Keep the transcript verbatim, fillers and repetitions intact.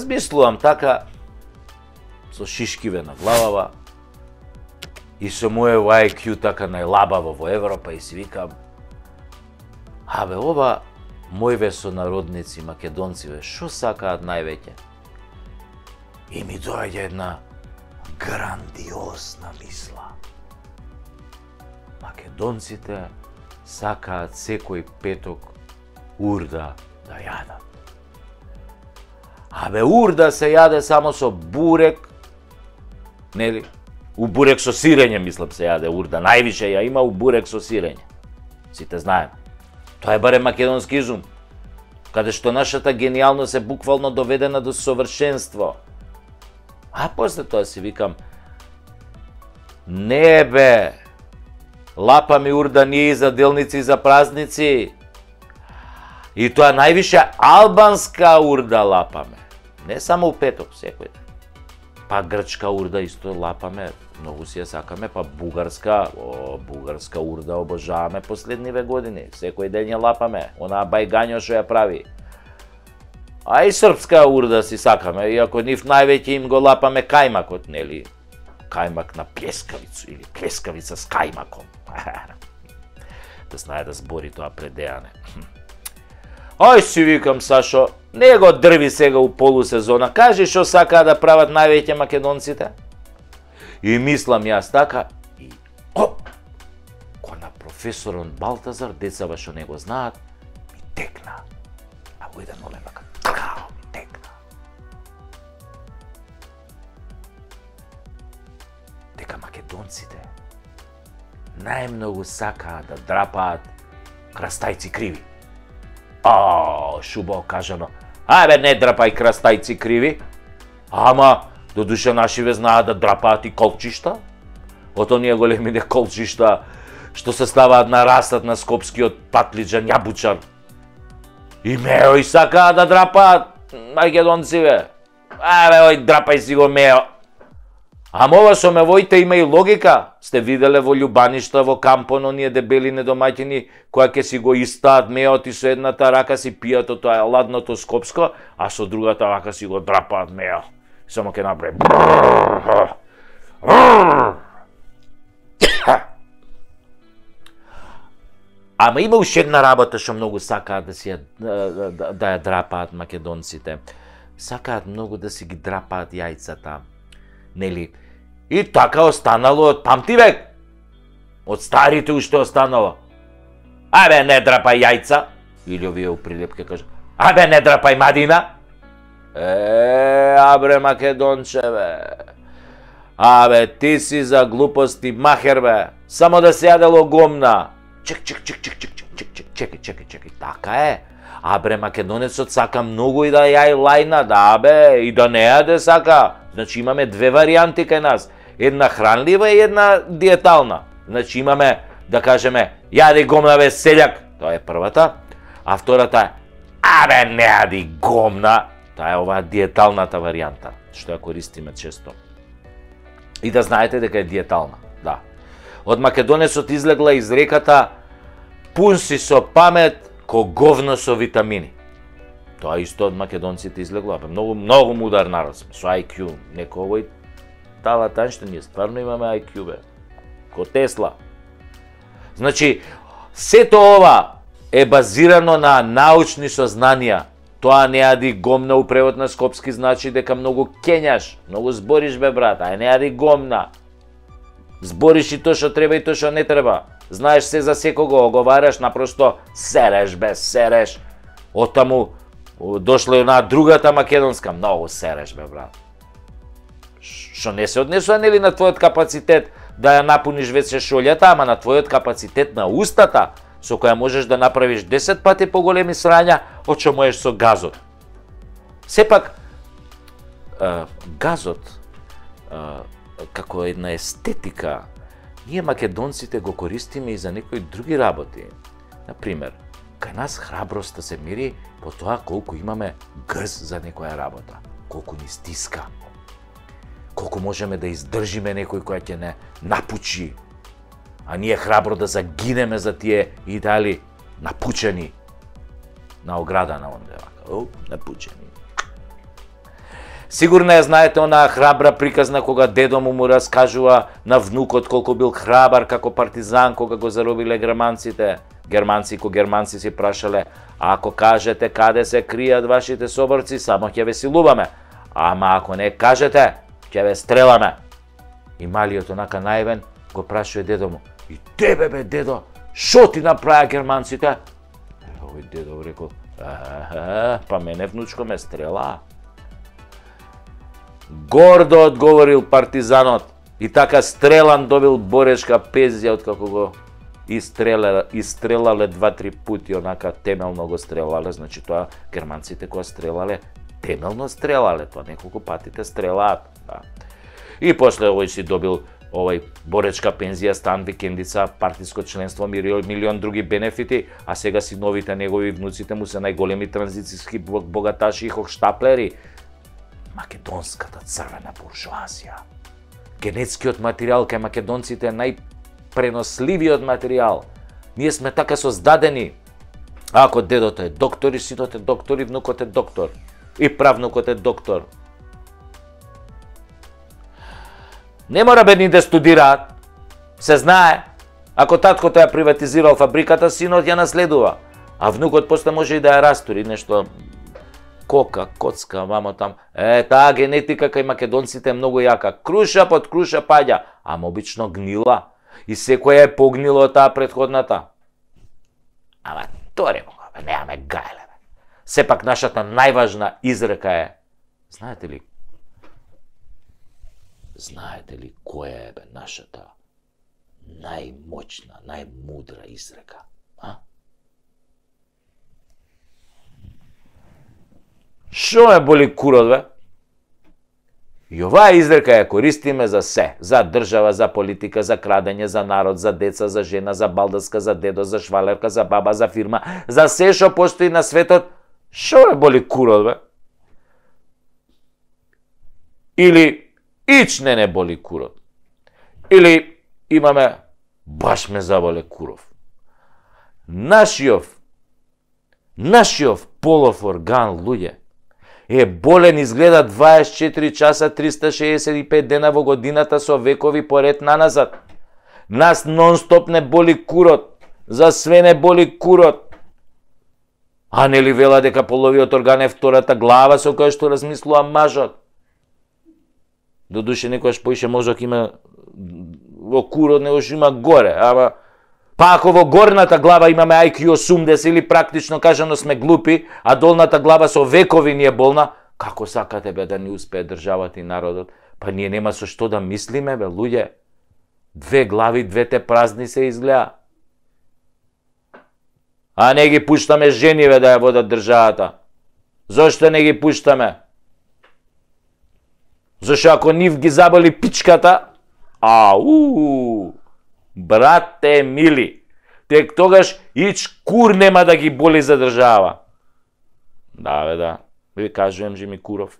размислувам така, со шишкиве на главава, и со моје ай кју така најлабаво во Европа, и си викам, абе, ова мојве сонародници, македонциве, шо сакаат највеќе? И ми доаѓа една грандиозна мисла. Македонците сакаат секој петок урда да јадат. Абе, урда се јаде само со бурек, нели? У бурек со сирење, мислам, се јаде урда. Највише ја има у бурек со сирење. Сите знаем. Тоа е барем македонски изум, каде што нашата генијалност е буквално доведена до совршенство. А после тоа си викам, не бе, лапаме урда ние за делници и за празници. И тоа највише албанска урда лапаме. Не само у петок, секој ден. Па грчка урда исто лапаме, многу си ја сакаме, па бугарска, о, бугарска урда обожаваме последниве години. Секој ден ја лапаме, онаа бајгањо што ја прави. А и српска урда си сакаме, иако нив највеќе им го лапаме кајмакот, нели? Кајмак на плескавицу или плескавица с кајмаком. Да знае да збори тоа предејане. Ај си викам, Сашо, не го дрви сега у полусезона, кажи што сакаа да прават највеќе македонците. И мислам јас така, и оп, кој на професорон Балтазар, децава што не го знаат, ми текна. А во еден момент така, тркао ми текна. Дека македонците најмногу сакаат да драпаат крастајци криви. А, шубаво кажано. Ајбе, не драпај крастајци криви. Ама, додуше нашиве знаат да драпаат и колчишта. Од оние големине колчишта што се ставаат на растат на скопскиот патлиџан јабучар. И мео и сакаат да драпаат македонциве. Ајбе, ој, драпај си го мео. Ама ова со мевоите има и логика. Сте виделе во Љубаништа, во Кампон, оние дебели недомаќини, која ќе си го истаат меот и со едната рака си пијат од тоа ладното скопско, а со другата рака си го драпаат мео. Само ќе направи. Ама има уште една работа што многу сакаат да си ја, да, да, да ја драпаат македонците. Сакаат многу да си ги драпаат јајцата. Нели? И така останало од памти век. Од старите уште останало. Абе, не драпај јајца. Или овие у прилепке кажа. Абе, не драпај мадина. Е, абре, македончеве. Абе, ти си за глупости махер, бе. Само да се јадело гомна. Чек, чек, чек, чек, чек, чек, чек, чек, чекај, чекај, чекај. Така е. Абре, македонецот сака многу и да јај лајна, да, бе, и да не јаде сака. Значи имаме две варијанти кај нас. Една хранлива и една диетална. Значи имаме, да кажеме, јади гомна, бе, селјак. Тоа е првата. А втората е, абе, не јади гомна. Тоа е оваа диеталната варијанта, што ја користиме често. И да знаете дека е диетална, да. Од македонецот излегла изреката пун си со памет ко говно со витамини. Тоа исто од македонците излегло, бе, многу многу мудар народ сме, со ай кју, некој овој тава таншта, ние стварно имаме ай кју, бе, ко Тесла. Значи, сето ова е базирано на научни сознанија. Тоа не јади гомна у превод на скопски значи дека многу кењаш, многу збориш, бе, брат, ај не јади гомна. Збориш и тоа што треба и тоа што не треба. Знаеш се за секого, оговараш, напросто сереш, бе, сереш. Оттаму дошла и онаа другата македонска, многу сереш, бе, брат. Што не се однесува, нели, на твојот капацитет да ја напуниш веќе шолјата, ама на твојот капацитет на устата, со која можеш да направиш десет пати поголеми срања од што можеш со газот. Сепак, а, газот, а, како една естетика, ние македонците го користиме и за некои други работи. Например, кај нас храброста се мери по тоа колку имаме грз за некоја работа, колку ни стиска, колку можеме да издржиме некој кој ќе не напучи, а ние храбро да загинеме за тие идеали напучени на ограда на онде, оп, напучени. Сигурно ја знаете онаа храбра приказна кога дедо му му раскажува на внукот колку бил храбар како партизан кога го заробиле германците. Германци ко германци си прашале: ако кажете каде се кријат вашите соборци, само ќе ве силуваме. Ама ако не кажете, ќе ве стреламе. И малиот онака наивен го прашува дедо му: и тебе бе дедо, шо ти направија германците? Овој дедо рекол: па мене внучко ме стрела. Гордо одговорил партизанот и така стрелан добил борешка пензија откако го истрелале, истрелале два-три пути, онака темелно го стрелале, значи тоа германците кога стрелале, темелно стрелале, тоа неколку пати те стрелаат. Да. И после овој си добил овој боречка пензија, стан, викендица, партиско членство, милион други бенефити, а сега синовите негови внуците му се најголеми транзицијски богаташи и хохштаплери. Македонската црвена буржуазија. Генетскиот материјал кај македонците е најпреносливиот материјал. Ние сме така создадени. Ако дедото е доктор и синот е доктор и внукот е доктор и правнукот е доктор. Не мора бедни да студираат. Се знае. Ако таткото ја приватизирал фабриката, синот ја наследува. А внукот после може и да ја растури нешто кока, коцка, мамо там. Е, таа генетика кај македонците е многу јака. Круша под круша паѓа, ама обично гнила. И секоја е погнило од таа претходната. Ама торе мога, бе, немаме гајле, бе. Сепак нашата најважна изрека е, знаете ли, знаете ли која е, бе, нашата најмоćна, најмудра изрека? А? Шо ме боли курот, бе? И оваа изрека ја користиме за се, за држава, за политика, за крадење, за народ, за деца, за жена, за балдаска, за дедо, за швалерка, за баба, за фирма, за се што постои на светот. Шо ме боли курот, бе? Или ич не не боли курот. Или имаме баш ме заболе куров. Нашиов, нашиов полов орган, луѓе, е болен изгледа дваесет и четири часа, триста шеесет и пет дена во годината со векови поред наназад. Нас нон-стоп не боли курот, за све не боли курот. А нели вела дека половиот орган е втората глава со која што размислува мажот? Додуше некојаш поише мозок има во курот, него што има горе, ама па ако во горната глава имаме ај кју осумдесет или практично кажано сме глупи, а долната глава со векови ни е болна, како сакате, бе, да ни успее државата и народот? Па ние нема со што да мислиме, бе, луѓе. Две глави, двете празни се изгледа. А не ги пуштаме жениве да ја водат државата. Зошто не ги пуштаме? Зашто ако нив ги заболи пичката, ау, брате мили, тек тогаш ич кур нема да ги боли за држава. Да, бе, да. Ви кажувам, Жими Куров.